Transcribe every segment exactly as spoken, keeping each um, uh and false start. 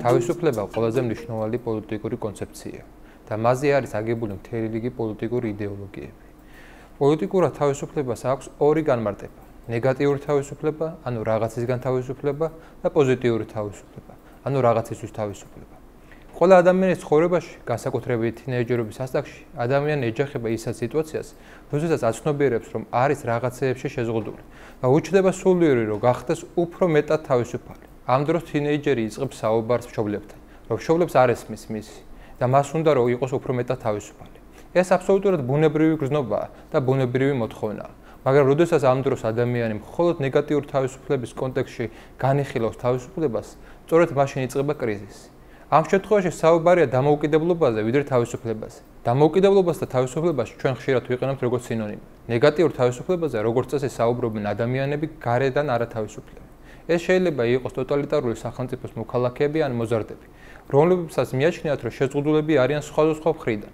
თავისუფლება ყველაზე მნიშვნელოვანი პოლიტიკური კონცეფციაა და მასზე არის აგებული მთელი რიგი პოლიტიკური იდეოლოგიები. პოლიტიკურად თავისუფლებას აქვს ორი განმარტება: ნეგატიური თავისუფლება, ანუ რაღაცისგან თავისუფლება და პოზიტიური თავისუფლება, ანუ რაღაცისთვის თავისუფლება. ყველა ადამიანის ცხოვრებაში, განსაკუთრებით თინეიჯერობის ასაკში, ადამიანი ეჯახება ისეთ სიტუაციას, როდესაც აცნობიერებს, რომ არის რაღაცეებში შეზღუდული და უჩნდება სულიერი, რომ გახდეს უფრო მეტად თავისუფალი. ამ დროს თინეიჯერი იწყებს საუბარს მშობლებთან, რომ მშობლებს არ ესმის მისი და მას უნდა რომ იყოს უფრო მეტად თავისუფალი. ეს აბსოლუტურად ბუნებრივი გრძნობაა და ბუნებრივი მოთხოვნაა. მაგრამ როდესაც ამ დროს ადამიანი მხოლოდ ნეგატიური თავისუფლების კონტექსტში განიხილავს თავისუფლებას, სწორედ მაშინ იწყება კრიზისი. ამ შემთხვევაში საუბარია დამოუკიდებლობაზე, ვიდრე თავისუფლებაზე. დამოუკიდებლობას და თავისუფლებას ჩვენ ხშირად ვიყენებთ როგორც სინონიმი. ნეგატიურ თავისუფლებაზე, როგორც წესი, საუბრობენ ადამიანები გარედან არათავისუფლები. ეს შეიძლება იყოს ტოტალიტარული სახელმწიფოს მოქალაქეები ან მოზარდები, რომლებსაც მიაჩნიათ, რომ შეზღუდულები არიან სხვადასხვა მხრიდან.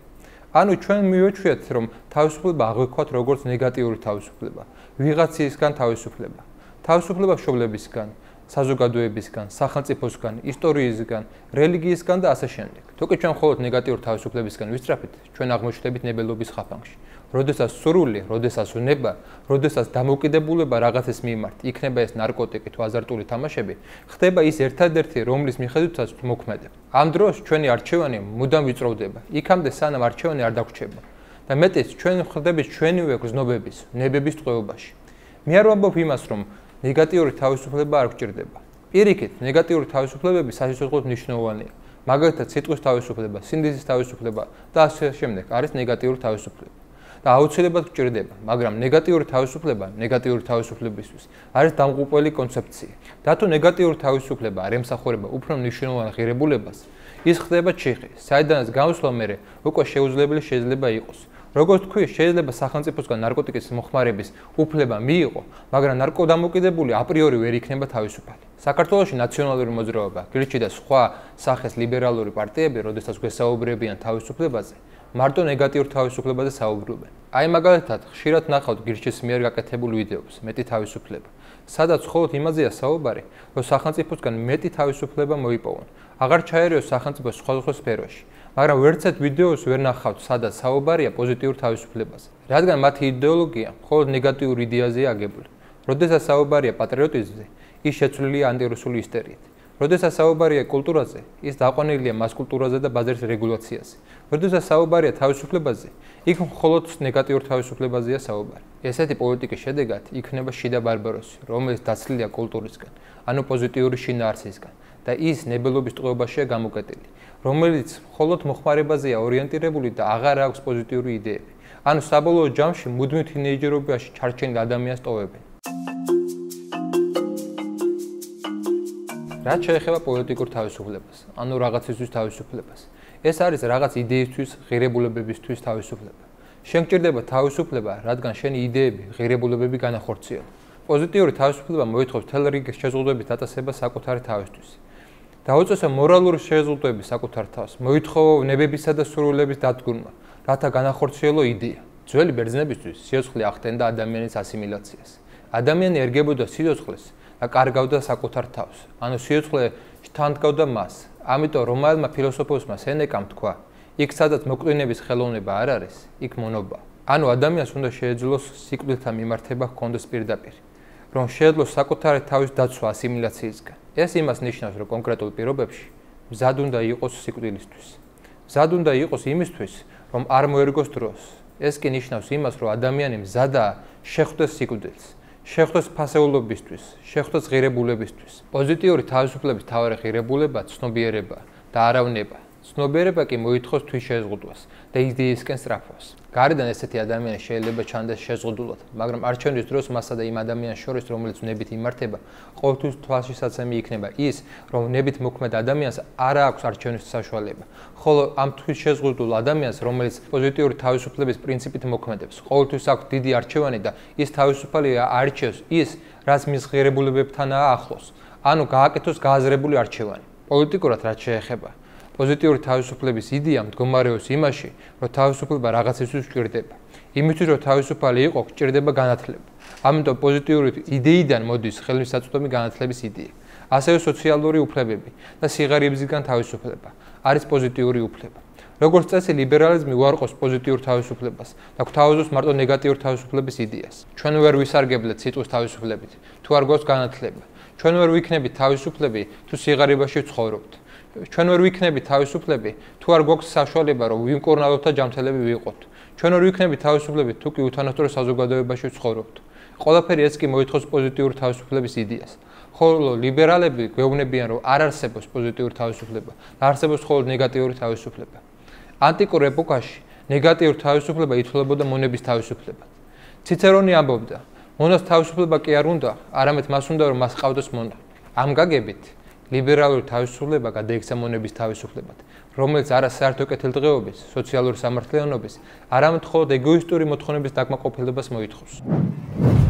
ანუ ჩვენ მივეჩვიათ, რომ თავისუფლება აღვიქვათ როგორც ნეგატიური თავისუფლება, ვიღაცისგან თავისუფლება, თავისუფლება მშობლებისგან, საზოგადოებისგან, სახელმწიფოსგან, ისტორიისგან, რელიგიისგან და ასე შემდეგ. თუკი ჩვენ მხოლოდ ნეგატიურ თავისუფლებისგან ვისწრაფით, ჩვენ აღმოჩნდებით ნებელობის ხაფანგში. როდესაც სურვილი, როდესაც უნება, როდესაც დამოუკიდებულება რაღაცის მიმართ, იქნება ეს ნარკოტიკი თუ აზარტული თამაშები, ხდება ის ერთადერთი, რომლის მიხედვითაც მოქმედებთ. ამ დროს ჩვენი არჩევანი მუდამ ვიწროვდება, იქამდე სანამ არჩევანი არ დაგვრჩება და მეტიც ჩვენ ხდებით ჩვენივე გრძნობების, ნებების ტყვეობაში. მე არ ვამბობ იმას, რომ ნეგატიური თავისუფლება არ გვჭირდება. პირიქით, ნეგატიური თავისუფლებები სასიცოცხლოდ მნიშვნელოვანია. მაგალითად, სიტყვის თავისუფლება, სინდისის თავისუფლება და ასე შემდეგ არის ნეგატიური თავისუფლება. და აუცილებლად გვჭირდება, მაგრამ ნეგატიური თავისუფლება, ნეგატიური თავისუფლებისთვის არის დამღუპველი კონცეფცია. და თუ ნეგატიური თავისუფლება არ ემსახურება უფრო მნიშვნელოვან ღირებულებას, ის ხდება ჩიხი, საიდანაც გამოსვლა მერე უკვე შეუძლებელი შეიძლება იყოს. როგორც თქვი, შეიძლება სახელმწიფოსგან ნარკოტიკის მოხმარების უფლება მიიღო, მაგრამ ნარკოდამოუკიდებელი აპრიორი ვერ იქნება თავისუფალი. საქართველოში ნაციონალური მოძრაობა, გირჩი და სხვა სახეს ლიბერალური პარტიები, როდესაც გვესაუბრებიან თავისუფლებაზე, მარტო ნეგატიურ თავისუფლებაზე საუბრობენ. აი მაგალითად, ხშირად ნახავთ გირჩის მიერ გაკეთებულ ვიდეოს, მეტი თავისუფლება, სადაც მხოლოდ იმაზეა საუბარი, რომ სახელმწიფოსგან მეტი თავისუფლება მოიპოვონ. აღარ ჩაერიოს სახელმწიფოს სხვადასხვა სფეროში, მაგრამ ვერცეთ ვიდეოს ვერ ნახავთ, სადაც საუბარია პოზიტიურ თავისუფლებაზე, რადგან მათი იდეოლოგია მხოლოდ ნეგატიურ იდეაზეა აგებული. როდესაც საუბარია პატრიოტიზმზე, ის შეცვლილია ანტირუსული ისტერიით. როდესაც საუბარია კულტურაზე, ის დაყვანილია მას კულტურაზე და ბაზრის რეგულაციაზე. როდესაც საუბარია თავისუფლებაზე, იქ მხოლოდ ნეგატიურ თავისუფლებაზეა საუბარი. ესეთი პოლიტიკის შედეგად იქნება შიდა ბარბაროსი, რომელიც დაცლილია კულტურისგან, ანუ პოზიტიური შინაარსისგან და ის ნებელობის ტყვეობაშია გამოკეტილი, რომელიც მხოლოდ მოხმარებაზეა ორიენტირებული და აღარ აქვს პოზიტიური იდეები. ანუ საბოლოო ჯამში მუდმივ თინეიჯერობაში ჩარჩენილ ადამიანს ტოვებენ. რაც შეეხება პოლიტიკურ თავისუფლებას, ანუ რაღაცისთვის თავისუფლებას. ეს არის რაღაც იდეისთვის, ღირებულებებისთვის თავისუფლება. შენ გჭირდება თავისუფლება, რადგან შენი იდეები, ღირებულებები განახორციელო. პოზიტიური თავისუფლება მოითხოვს მთელ რიგ შეზღუდვების დაწესებას საკუთარი თავისთვის. დაუწესო მორალური შეზღუდვები საკუთარ თავს, მოითხოვო ნებებისა და სურვილების დადგურმა, რათა განახორციელო იდეა. ძველი ბერძნებისთვის სიცოცხლე ახდენდა ადამიანის ასიმილაციას. ადამიანი ერგებოდა სიცოცხლეს და კარგავდა საკუთარ თავს, ანუ სიცოცხლე შთანდგავდა მას. ამიტომ რომაელმა ფილოსოფოსმა სენეკამ თქვა, იქ სადაც მოკლინების ხელოვნება არ არის, იქ მონობა. ანუ ადამიანს უნდა შეეძლოს სიკვდილთან მიმართება ჰქონდეს პირდაპირ, რომ შეეძლოს საკუთარი თავის დაცვა ასიმილაციისგან. ეს იმას ნიშნავს, რომ კონკრეტულ პირობებში მზად უნდა იყოს სიკვდილისთვის. მზად უნდა იყოს იმისთვის, რომ არ მოერგოს დროს. ეს კი ნიშნავს იმას, რომ ადამიანი მზადაა შეხვდეს სიკვდილს. შეხვდეს ფასეულობისთვის, შეხვდეს ღირებულებისთვის. პოზიტიური თავისუფლების მთავარი ღირებულება ცნობიერება და არავნება. ცნობიერება კი მოითხოვს თვითშეზღუდვას და იდეისკენ სწრაფვას. გარედან ესეთი ადამიანი შეიძლება ჩანდეს შეზღუდულად, მაგრამ არჩევნის დროს მასა და იმ ადამიანის შორის, რომელიც ნებით იმართება, ყოველთვის თვალშისაცემი იქნება ის, რომ ნებით მოქმედ ადამიანს არ აქვს არჩევნის საშუალება, ხოლო ამ თვითშეზღუდულ ადამიანს, რომელიც პოზიტიური თავისუფლების პრინციპით მოქმედებს, ყოველთვის აქვს დიდი არჩევანი და ის თავისუფალია არჩევს ის, რაც მის ღირებულებებთანაა ახლოს, ანუ გააკეთოს გააზრებული არჩევანი. პოლიტიკურად რაც შეეხება პოზიტიური თავისუფლების იდეა მდგომარეობს იმაში, რომ თავისუფლება რაღაცისთვის გვჭირდება. იმისთვის, რომ თავისუფალი იყო, გვჭირდება განათლება. ამიტომ პოზიტიური იდეიდან მოდის ხელმისაწვდომი განათლების იდეა. ასევე სოციალური უფლებები და სიღარიბისგან თავისუფლება არის პოზიტიური უფლება. როგორც წესი, ლიბერალიზმი უარყოფს პოზიტიურ თავისუფლებას და გვთავაზობს მარტო ნეგატიურ თავისუფლების იდეას. ჩვენ ვერ ვისარგებლეთ სიტყვის თავისუფლებით, თუ არ გვაქვს განათლება. ჩვენ ვერ ვიქნებით თავისუფლები, თუ სიღარიბეში ვცხოვრობთ. ჩვენ ვერ ვიქნებით თავისუფლები, თუ არ გვაქვს საშუალება, რომ ვიმკურნალოთ და ჯანმრთელები ვიყოთ. ჩვენ ვერ ვიქნებით თავისუფლები, თუ კი უთანასწორო საზოგადოებაში ვცხოვრობთ. ყველაფერი ეს კი მოითხოვს პოზიტიურ თავისუფლების იდეას. ხოლო ლიბერალები გვეუბნებიან, რომ არ არსებობს პოზიტიური თავისუფლება, არსებობს მხოლოდ ნეგატიური თავისუფლება. ანტიკურ ეპოქაში ნეგატიური თავისუფლება ითვლებოდა მონების თავისუფლებად. ციცერონი ამბობდა, მონას თავისუფლება კი არ უნდა, არამედ მას უნდა, რომ მას ყავდეს მონა. ამ გაგებით ლიბერალური თავისუფლება გადაიქცა მონების თავისუფლებად, რომელიც არა საერთო კეთილდღეობის, სოციალური სამართლიანობის, არამედ მხოლოდ ეგოისტური მოთხოვნების დაკმაყოფილებას მოითხოვს.